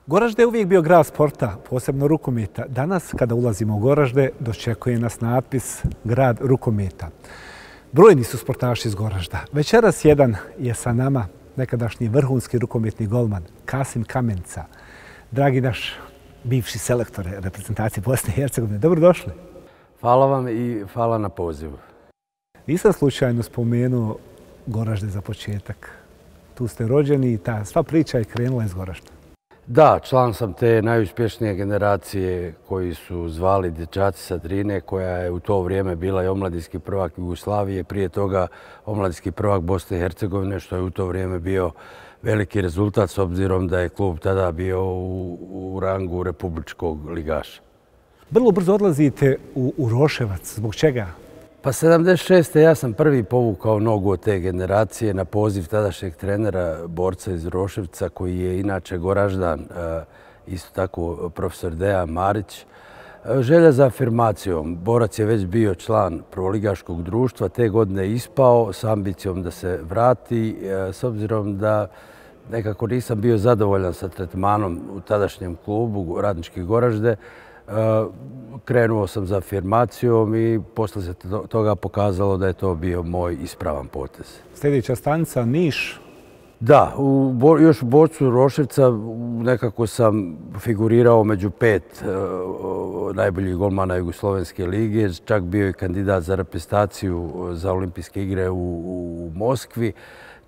Goražde je uvijek bio grad sporta, posebno rukometa. Danas, kada ulazimo u Goražde, dočekuje nas natpis Grad rukometa. Brojni su sportaši iz Goražda. Večeras jedan je sa nama nekadašnji vrhunski rukometni golman Kasim Kamenica. Dragi naš bivši selektor reprezentacije Bosne i Hercegovine, dobrodošli. Hvala vam i hvala na pozivu. Nisam slučajno spomenuo Goražde za početak. Tu ste rođeni i ta sva priča je krenula iz Goražda. Da, član sam te najuspješnije generacije koji su zvali dječaci sa Drine, koja je u to vrijeme bila i omladinski prvak Jugoslavije, prije toga omladinski prvak Bosne i Hercegovine, što je u to vrijeme bio veliki rezultat s obzirom da je klub tada bio u rangu republičkog ligaša. Vrlo brzo odlazite u Roševac. Zbog čega? Pa 76. ja sam prvi povukao nogu od te generacije na poziv tadašnjeg trenera, borca iz Roševca, koji je inače Goraždan, isto tako profesor Dejan Marić. Želja za afirmacijom. Borac je već bio član prvoligaškog društva, te godine ispao s ambicijom da se vrati, s obzirom da nekako nisam bio zadovoljan sa tretmanom u tadašnjem klubu Radnički Goražde. Krenuo sam za afirmacijom i posle se toga pokazalo da je to bio moj ispravan potez. Sljedeća stanica Niš. Da, još u borcu Roševca nekako sam figurirao među 5 najboljih golmana Jugoslovenske lige. Čak bio i kandidat za reprezentaciju za olimpijske igre u Moskvi.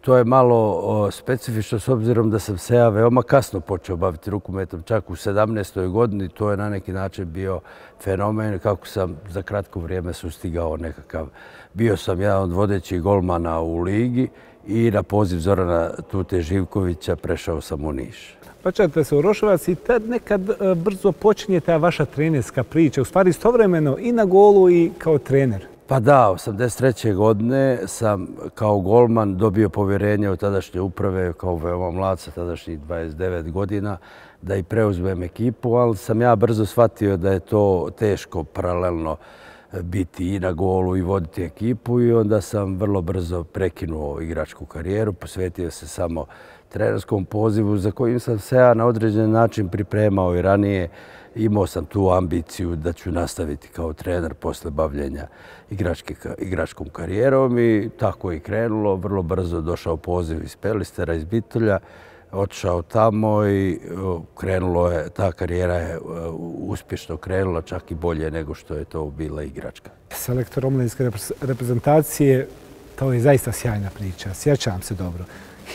To je malo specifično s obzirom da sam se ja veoma kasno počeo baviti rukometom, čak u 17. godini. To je na neki način bio fenomen kako sam za kratko vrijeme sustigao nekakav. Bio sam jedan od vodećih golmana u ligi i na poziv Zorana Tute Živkovića prešao sam u Niš. Vraćate se u Roševac i tad nekad brzo počinje ta vaša trenerska priča, u stvari istovremeno i na golu i kao trener. Pa da, 83. godine sam kao golman dobio povjerenje od tadašnje uprave, kao veoma mlad sa tadašnjih 29 godina, da i preuzmem ekipu, ali sam ja brzo shvatio da je to teško paralelno biti i na golu i voditi ekipu i onda sam vrlo brzo prekinuo igračku karijeru, posvetio se samo trenerskom pozivu za kojim sam se ja na određen način pripremao i ranije. Imao sam tu ambiciju da ću nastaviti kao trener posle bavljenja igračkom karijerom i tako je krenulo. Vrlo brzo došao poziv iz Pelistera, iz Bitolja, otišao tamo i ta karijera je uspješno krenula, čak i bolje nego što je to bila igračka. Selektor omladinske reprezentacije, to je zaista sjajna priča. Sjećam se dobro.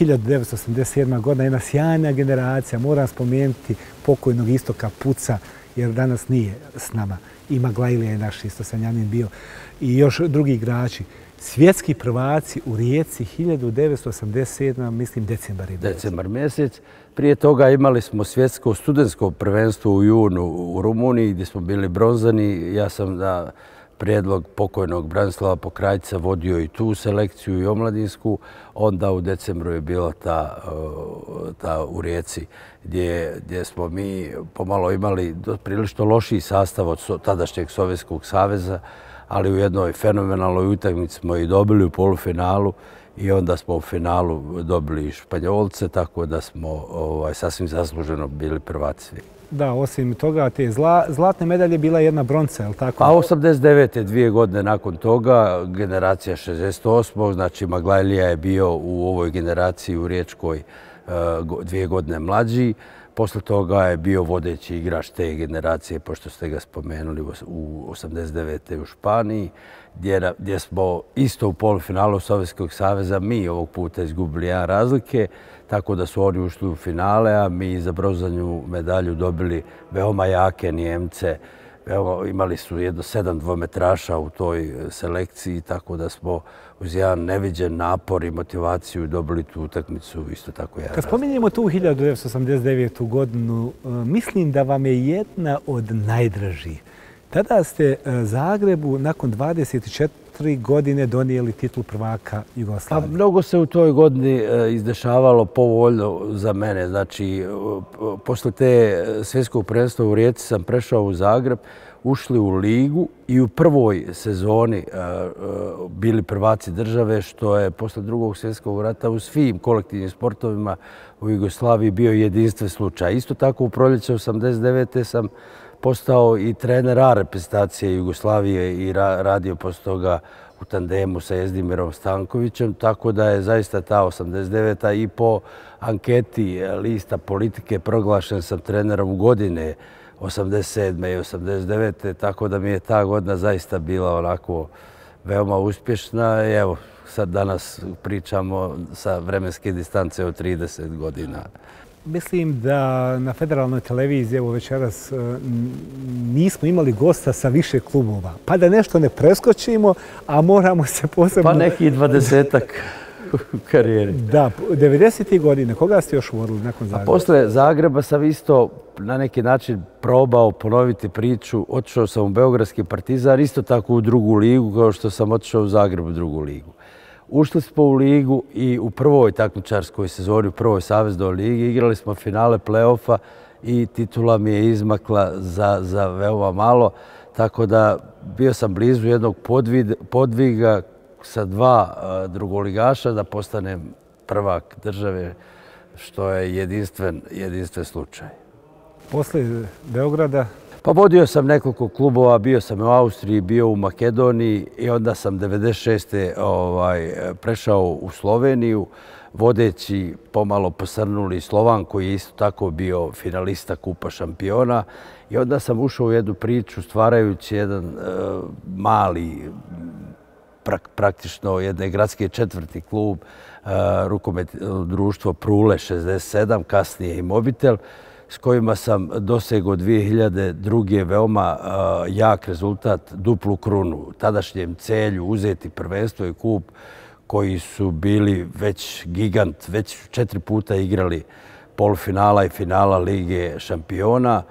1987. godina, jedna sjajna generacija. Moram spomenuti pokojnog Istoka Puca, jer danas nije s nama. I Maglajlija je naš Istosanjanin bio. I još drugi igrači. Svjetski prvaci u Rijeci 1987. mislim decembar je bio. Decembar mjesec. Prije toga imali smo svjetsko studentsko prvenstvo u junu u Rumuniji gdje smo bili bronzani. Ja sam na prijedlog pokojnog Branislava Pokrajca vodio i tu selekciju i omladinsku. Onda u decembru je bila ta u Rijeci gdje smo mi pomalo imali prilično lošiji sastav od tadašnjeg Sovjetskog saveza, ali u jednoj fenomenalnoj utakmici smo i dobili u polufinalu i onda smo u finalu dobili Španjolce, tako da smo sasvim zasluženo bili prvaci. Da, osim toga, te zlatne medalje bila jedna bronca, je li tako? Pa 89. 2 godine nakon toga, generacija 68. Znači Maglajlija je bio u ovoj generaciji u Riječkoj 2 godine mlađi. Posle toga je bio vodeći igrač te generacije, pošto ste ga spomenuli, u 89. u Španiji, gdje smo isto u polufinalu Sovjetskog saveza mi ovog puta izgubili 1 razlike, tako da su oni ušli u finale, a mi za bronzanu medalju dobili veoma jake Nijemce. Imali su jedno 7 dvometraša u toj selekciji, tako da smo uz jedan neviđen napor i motivaciju dobili tu utakmicu isto tako jedan. Kad spominjemo tu 1989. godinu, mislim da vam je jedna od najdražih. Tada ste Zagrebu nakon 24 4 godine donijeli titulu prvaka Jugoslavije. Pa mnogo se u toj godini izdešavalo povoljno za mene. Znači, posle te svjetskog prvenstva u Rijeci sam prešao u Zagreb, ušli u ligu i u prvoj sezoni bili prvaci države, što je posle drugog svjetskog rata u svim kolektivnim sportovima u Jugoslaviji bio jedinstven slučaj. Isto tako u proljeće 89. sam postao i trener A reprezentacije Jugoslavije i radio posle toga u tandemu sa Jezdimirom Stankovićem, tako da je zaista ta 89. i po anketi lista Politike proglašen sam trenerom godine 87. i 89. Tako da mi je ta godina zaista bila onako veoma uspješna. I evo, sad danas pričamo sa vremenske distance od 30 godina. Mislim da na federalnoj televiziji, evo večeras, nismo imali gosta sa više klubova. Pa da nešto ne preskočimo, a moramo se posebno... Pa neki 20-ak u karijeri. Da, 90. godine. Koga ste još vodili nakon Zagreba? Posle Zagreba sam isto na neki način probao ponoviti priču. Otišao sam u Beogradski Partizan, isto tako u drugu ligu, kao što sam otišao u Zagreb u drugu ligu. Ušli smo u ligu i u prvoj takmičarskoj sezoni, u prvoj saveznoj ligi, igrali smo finale play-offa i titula mi je izmakla za veoma malo. Tako da bio sam blizu jednog podviga sa 2 drugoligaša da postanem prvak države, što je jedinstven slučaj. Posle Beograda? Pa vodio sam nekoliko klubova, bio sam u Austriji, bio u Makedoniji i onda sam 96. Prešao u Sloveniju, vodeći pomalo posrnuli Slovan koji je isto tako bio finalista Kupa šampiona. I onda sam ušao u jednu priču stvarajući jedan mali, praktično jedne gradske četvrti klub, rukometno društvo Prule 67, kasnije i Mobitel, s kojima sam dosegao 2002. veoma jak rezultat, duplu krunu. Tadašnjem Celju uzeti prvenstvo i kup koji su bili već gigant, već 4 puta igrali polufinala i finala Lige šampiona.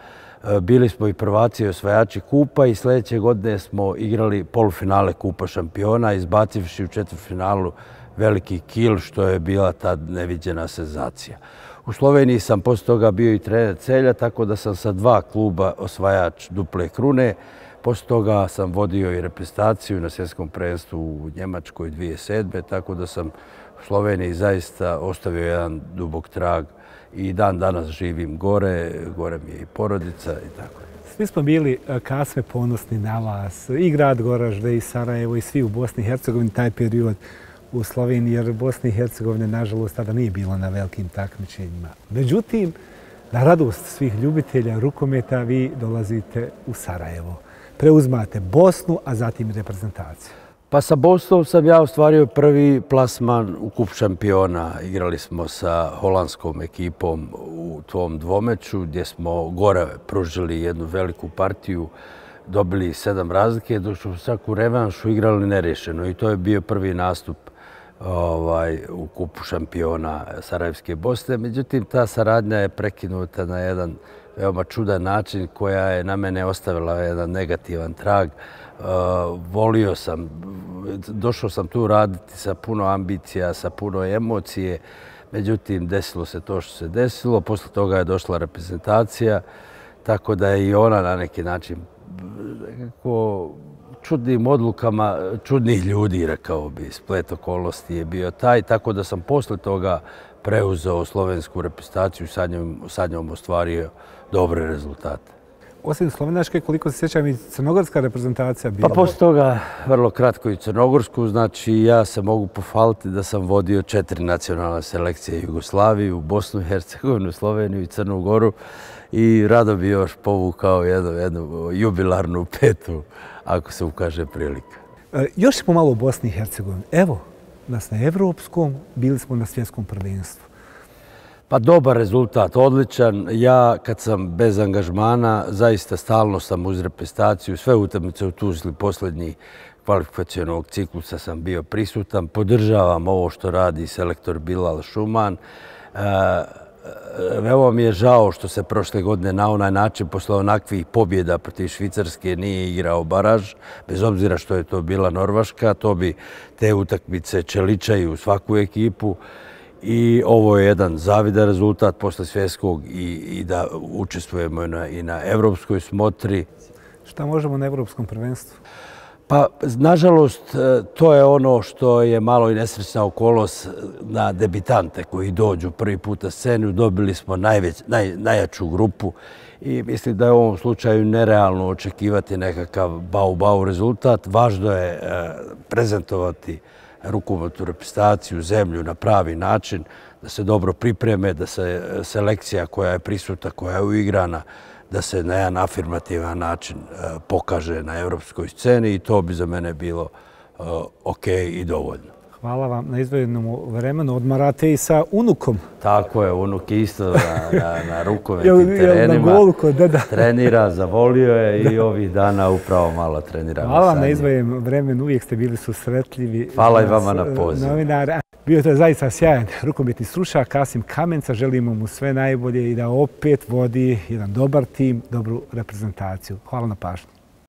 Bili smo i prvaci i osvajači kupa i sljedeće godine smo igrali polufinale Kupa šampiona, izbacivši u četvrtfinalu veliki Kiel, što je bila tad neviđena senzacija. U Sloveniji sam posle toga bio i trener Celja, tako da sam sa 2 kluba osvajač duple krune. Posle toga sam vodio i reprezentaciju na svjetskom prvenstvu u Njemačkoj 2007. Tako da sam u Sloveniji zaista ostavio jedan dubok trag i dan danas živim gore mi je i porodica i tako. Svi smo bili, Kasme, ponosni na vas, i grad Goražde, i Sarajevo, i svi u Bosni i Hercegovini, taj period u Sloveniji, jer Bosni i Hercegovine, nažalost, tada nije bilo na velikim takmičenjima. Međutim, na radost svih ljubitelja rukometa, vi dolazite u Sarajevo. Preuzmate Bosnu, a zatim i reprezentaciju. Pa sa Bosnom sam ja ostvario prvi plasman u Kup šampiona. Igrali smo sa holandskom ekipom u tom dvomeču gdje smo gore pružili jednu veliku partiju, dobili 7 razlike, dok smo svaku revanšu igrali nerješeno i to je bio prvi nastup u Kupu šampiona Sarajevske Bosne. Međutim, ta saradnja je prekinuta na jedan veoma čudan način koja je na mene ostavila jedan negativan trag. Volio sam, došao sam tu raditi sa puno ambicija, sa puno emocije, međutim desilo se to što se desilo, posle toga je došla reprezentacija, tako da je i ona na neki način nekako čudnim odlukama, čudnih ljudi, rekao bi, splet okolnosti je bio taj, tako da sam posle toga preuzeo slovensku reprezentaciju i sa njom ostvario dobre rezultate. Osim slovenačke, koliko se sjećam, i crnogorska reprezentacija bila? Pa posle toga vrlo kratko i crnogorsku, znači ja se mogu pohvaliti da sam vodio 4 nacionalne selekcije Jugoslaviju, Bosnu i Hercegovinu, Sloveniju i Crnu Goru i rado bi još povukao jednu jubilarnu 5. ako se ukaže prilika. Još smo malo u Bosni i Hercegovini. Evo nas na evropskom, bili smo na svjetskom prvenstvu. Pa dobar rezultat, odličan. Ja kad sam bez angažmana, zaista stalno sam uz reprezentaciju. Sve utakmice u Tuzli posljednjih kvalifikacionog ciklusa sam bio prisutan. Podržavam ovo što radi selektor Bilal Šuman. veoma mi je žao što se prošle godine na onaj način, posle onakvih pobjeda protiv Švicarske, nije igrao baraž, bez obzira što je to bila Norveška, to bi te utakmice čeličaju svaku ekipu. I ovo je jedan zavidan rezultat posle svjetskog i da učestvujemo i na evropskoj smotri. Šta možemo na evropskom prvenstvu? Pa, nažalost, to je ono što je malo i nesrećna okolnost na debitante koji dođu prvi put na scenu. Dobili smo najjaču grupu i mislim da je u ovom slučaju nerealno očekivati nekakav bau rezultat. Važno je prezentovati rukometnu reprezentaciju, zemlju na pravi način, da se dobro pripreme, da se selekcija koja je prisutna, koja je uigrana, da se na jedan afirmativan način pokaže na evropskoj sceni i to bi za mene bilo ok i dovoljno. Hvala vam na izdvojenom vremenu. Odmarate i sa unukom. Tako je, unuk je isto na rukometnim terenima. Na golu kod deda. Trenira, zavolio je i ovih dana upravo malo trenira. Hvala vam na izdvojenom vremenu, uvijek ste bili susretljivi. Hvala i vama na pozivu. Bio je to zaista sjajan rukometni stručnjak Kasim Kamenca. Želimo mu sve najbolje i da opet vodi jedan dobar tim, dobru reprezentaciju. Hvala na pažnju.